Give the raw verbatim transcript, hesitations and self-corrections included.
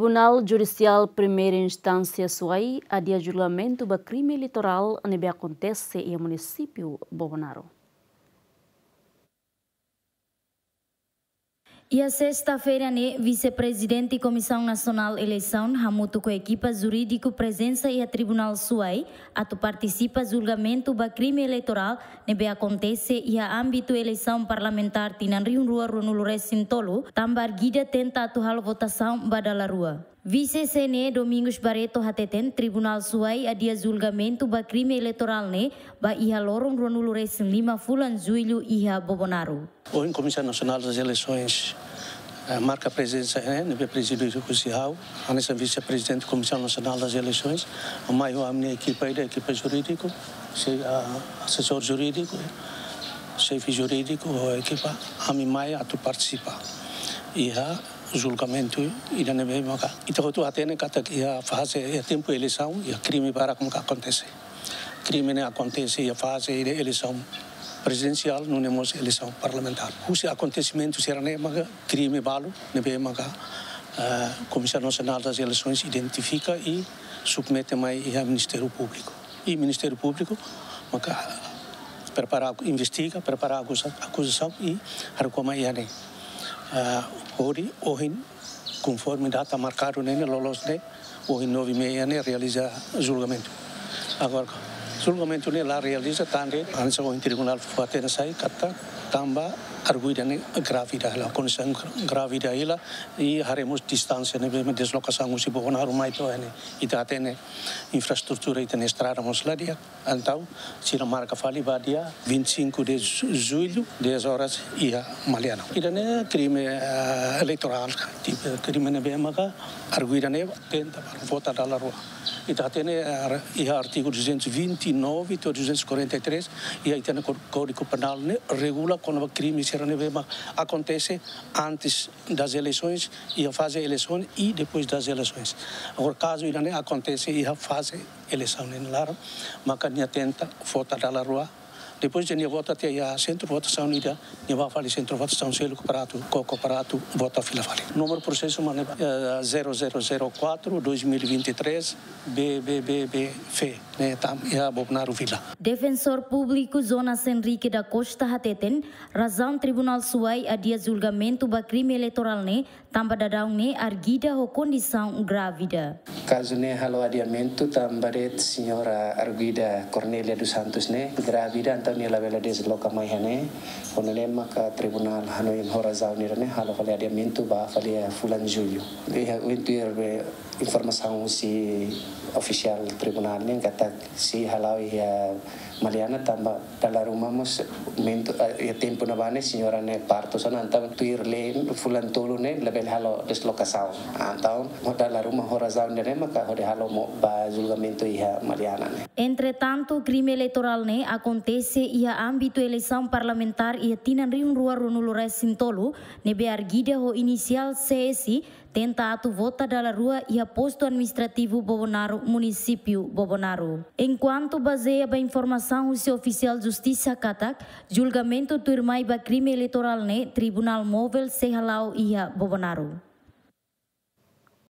Tribunál Judisiál Primeira Instánsia Suai adia julgamentu ba krime eleitorál ne'ebé akontese iha munisípiu Bobonaro. Iha sesta-feira ne'e, Vise-Prezidente Komisaun Nasionál Eleisaun hamutuk ho ekipa jurídiku prezensa iha Tribunál Suai atu partisipa julgamentu ba krime eleitorál ne'ebé akontese iha ámbitu eleisaun parlamentár tinan rihun rua ruanulu resin tolu, tanba arguida tenta atu halo votasaun ba dala rua. Vise-C N E Domingos Barreto hateten Tribunál Suai adia julgamentu ba krime eleitorál ne'e ba iha loron ruanulu resin lima fulan Jullu iha Bobonaro. Ohin Comissão Nacional das Eleições, eh, marka prezensa, eh, ne'ebé prezide husi ha'u, hanesan Vise-Prezidente Comissão Nacional das Eleições, mai ho ami-nia ekipa ida, ekipa jurídiku, se, ah, asesór jurídiku, xefe jurídiku, ho ekipa, ami mai atu partisipa iha julgamentu ida ne'ebé maka ita hotu hatene katak iha faze, iha tempu eleisaun, iha krime barak maka akontese. Krime ne'e akontese iha faze ida eleisaun prezidensiál, nune'e mós eleisaun parlamentár. Husi akontesimentu sira-ne'e maka krime balu ne'ebé maka, eh, Comissão Nacional das Eleições identifika i submete mai iha Ministériu Públiku. I Ministériu Públiku maka prepara, investiga, prepara akuza-, akuzasaun i haruka mai iha ne'e. Ah, hodi ohin, konforme data markadu ne'e, ne'e loloos ne'e, ohin nove e meia ne'e realiza julgamentu. Agora, julgamentu ne'e la realiza tanba, hanesan ohin tribunál fó hatene sai katak tanba arguida ne'e grávida hela, kondisaun grávida hela, i haree mós distánsia ne'ebé mak deslokasaun husi Bobonaro mai to'o iha ne'e. Ita hatene infraestrutura ita-nia estrada mós la di'ak. Entaun, sira marka fali ba dia vinte e cinco de ju-, julho, dez horas, iha Maliana. Ida-ne'e krime, eh, eleitorál, tipu krime ne'ebé maka arguida ne'e tenta vota dala rua. Ita hatene, eh, iha artigu duzentos e vinte e nove to'o duzentos e quarenta e três, iha ita-nia Có-, Código Penal ne'e regula kona-ba krime sira ne'ebé mak akontese antes das eleições, iha faze eleisaun i depois das eleições. Agora, kazu ida-ne'e akontese iha faze eleisaun nia laran, maka nia tenta vota dala rua. Depois de nia vota tiha iha sentru votasaun ida, nia bá fali sentru votasaun seluk para atu, koko para atu vota fila fali. Númeru prosesu mak ne'e, eh, zero zero zero quatro dois mil e vinte e três B B B B F, ne'e tama iha Bobonaro Vila. Defensór Públiku Jonas Henrique da Costa hateten, razaun Tribunál Suai adia julgamentu ba krime eleitorál ne'e tanba daudaun ne'e arguida ho kondisaun grávida. Kazu ne'e halo adiamentu tanba de'it señora arguida Cornelia dos Santos ne'e grávida, entaun nia labele desloka mai iha ne'e. Ho nune'e maka tribunál hanoin ho razaun ida-ne'e halo fali adiamentu ba fali iha fulan Jullu. Iha ohin tuir be informasaun husi ofisiál tribunál ne'e katak sei hala'o iha Maliana tanba dala ruma mós momentu, eh, iha tempu ne'ebá ne'e señora ne'e partu, so entaun tuir lei fulan tolu ne'e labele halo deslokasaun. Entaun, ho dala ruma ho razaun ida-ne'e maka hodi halo mós ba julgamentu iha Maliana ne'e. Entretantu, krime eleitorál ne'e akontese iha ámbitu eleisaun parlamentár iha tinan rihun rua ruanulu resin tolu, ne'ebé arguida ho inisiál C S, tenta atu vota dala rua iha postu administrativu Bobonaro, munisípiu Bobonaro. Enkuantu bazeia ba informasaun husi ofisiál justisa katak, julgamentu tuirmai ba krime eleitorál ne'e Tribunál Móvel sei hala'o iha Bobonaro.